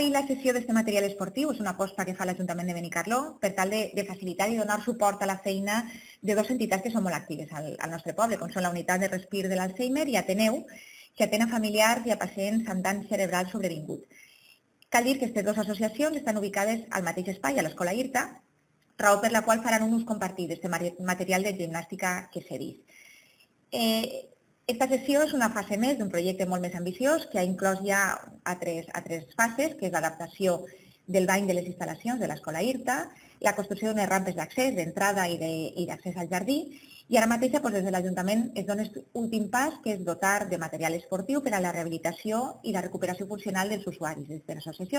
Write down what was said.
i la cessió d'aquest material esportiu és una aposta que fa l'Ajuntament de Benicarló per tal de facilitar i donar suport a la feina de dues entitats que són molt actives al nostre poble, com són la Unitat de Respir de l'Alzheimer i Ateneu, que atén a familiars i a pacients amb dany cerebral sobrevingut. Cal dir que aquestes dues associacions estan ubicades al mateix espai, a l'Escola IRTA, raó per la qual faran un ús compartit d'aquest material de gimnàstica que s'ha vist. Esta sessió és una fase més d'un projecte molt més ambiciós que ha inclòs ja altres fases, que és l'adaptació del bany de les instal·lacions de l'Escola IRTA, la construcció d'unes rampes d'accés, d'entrada i d'accés al jardí, i ara mateix des de l'Ajuntament es dona l'últim pas, que és dotar de material esportiu per a la rehabilitació i la recuperació funcional dels usuaris de les associacions.